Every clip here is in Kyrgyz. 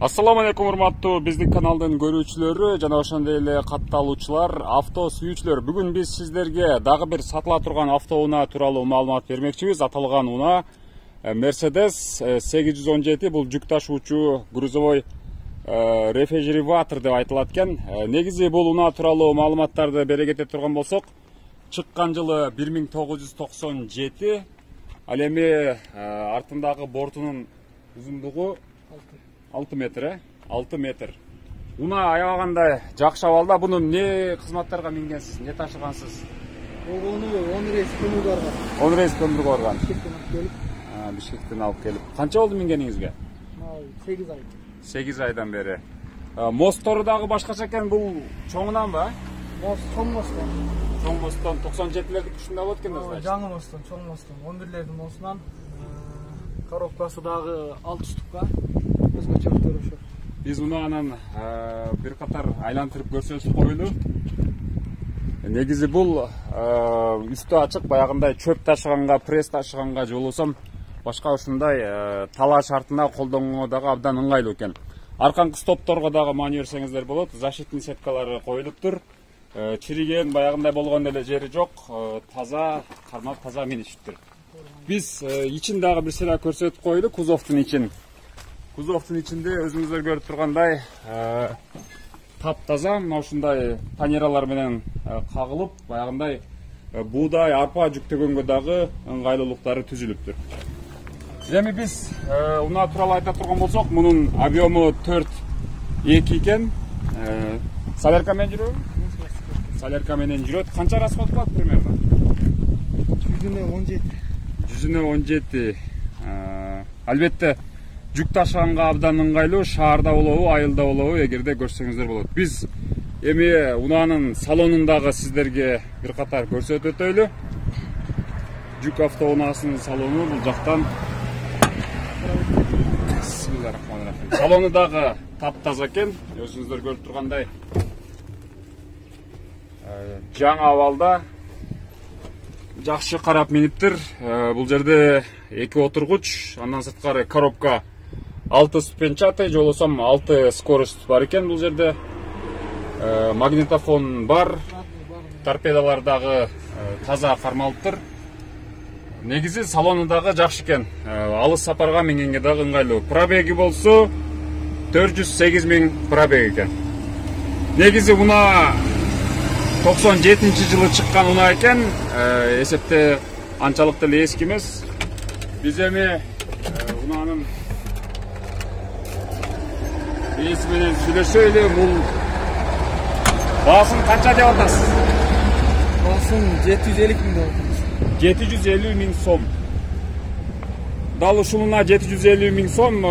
Ассаламу алейкум, урматтуу биздин каналдын көрүүчүлөрү жана ошондой эле катталуучулар, авто сүйүүчүлөр. Бүгүн биз сиздерге дагы бир сатыла турган автоунаа тууралуу маалымат бермекчибиз. Аталган унаа Mercedes 817, бул жүк ташуучу грузовой рефрижератор деп айтылат экен. Негизи бул унаа тууралуу маалыматтарды бере кете турган болсок, чыккан жылы 1997, ал эми артындагы бортунун узундугу 6 метр. 6 метр. Унаа аябагандай жакшы абалда. Буну не кызматтарга мингенсиз, не ташыгансыз? Ону 10 рейс көмүргө барган. 10 рейс көмүргө барган. Бишкектен алып келип. Канча болду мингениңизге? 8 ай. 8 айдан бери. Мосттору дагы башкача экен, бул чоңунанбы? Чоң мосттон. Чоң мосттон 97-лердики ушундай болот экен да, значит. Жаңы мосттон, чоң мосттон. 11-лердин мостунан коробкасы дагы 6 штукка. Өзгөчөлүктөр ошо. Биз унаанын бир катар айлантырып көрсөтүп койлу. Негизи бул үстү ачык, баягындай чөп ташыганга, пресс ташыганга же болбосо башка ушундай талаа шартына колдонууга дагы абдан ыңгайлуу экен. Арканкы стопторго дагы маани берсеңиздер болот. Защитный сеткалары коюлуптур. Чириген, баягындай болгон эле жери жок. Таза, кармап таза минишиптир. Биз ичин дагы бир сыйра көрсөтүп койлу, кузовдун ичин. Кузовдун ичинде өзүңүздөр көрүп тургандай таптаза, мына ушундай панералар менен кагылып, баягындай буудай, арпа жүктөгөнгө дагы ыңгайлуулуктары түзүлүптүр. Эми биз унаа тууралуу айта турган болсок, мунун объему 4.2 экен. Солярка менен жүрөбү? Солярка менен жүрөт. Канча расход кылат примерно? 117. 117. Албетте жүк ташыганга абдан ыңгайлуу, шаарда болобу, айылда болобу, эгерде көрсөңүздөр болот. Биз эми унаанын салонундагы сиздерге бир катар көрсөтүп өтөйлү. Жүк автоунаасынын салону бул жактан. Салону дагы таптаза экен, өзүңүздөр көрүп тургандай. Жаңы абалда, жакшы карап миниптир. Бул жерде 2 отургуч, андан сырткары коробка 6 ступенчатый, же болбосо 6 скорость бар экен бул жерде. Магнитофон бар. Торпедалар дагы таза кармалыптыр. Негизи салону дагы жакшы экен. Алыс сапарга мингенге дагы ыңгайлуу. Пробеги болсо 408 000 пробег экен. Негизи унаа 97-жылы чыккан унаа экен. Эсепте анчалык деле эски эмес. Биз эми унаанын ээси менен сүйлөшөлү. Бул баасын канча деп атасыз? Баасын 750 000 деп атабыз. 750 000 сом. Дал ушул унаа 750 000 сом.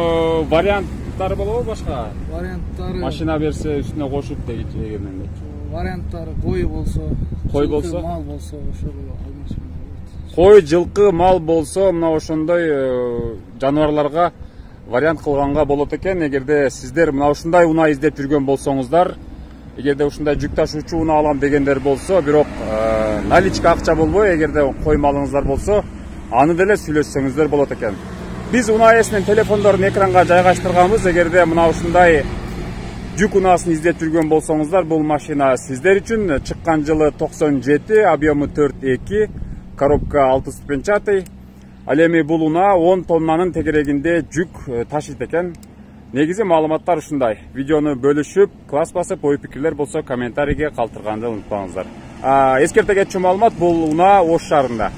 Варианттары болобу башка? Варианттары Машина берсе үстүнө кошуп дегендей. Варианттары кой болсо, кой болсо, мал болсо, ошол алмашып болот. Кой, жылкы, мал болсо, мына ошондой жаныбарларга вариант кылганга болот экен. Эгерде сиздер мына ушундай унаа издеп жүргөн болсоңуздар, эгерде ушундай жүк ташуучу унаа алам дегендер болсо, бирок наличка акча болбой, эгерде кой малыңыздар болсо, аны деле сүйлөшсөңүздөр болот экен. Биз унаа ээсинин телефондорун экранга жайгаштырганбыз. Эгерде мына ушундай жүк унаасын издеп жүргөн болсоңуздар, бул машина сиздер үчүн. Чыккан жылы 97, объему 4.2, коробка 6 ступенчатый. Ал эми бул унаа 10 тоннанын тегерегинде жүк ташыйт экен. Негизи маалыматтар ушундай. Видеону бөлүшүп, класс басып, ой пикирлер болсо комментарийге калтырганды унутпаңыздар. Эскерте кетчү маалымат, бул унаа Ош шаарында.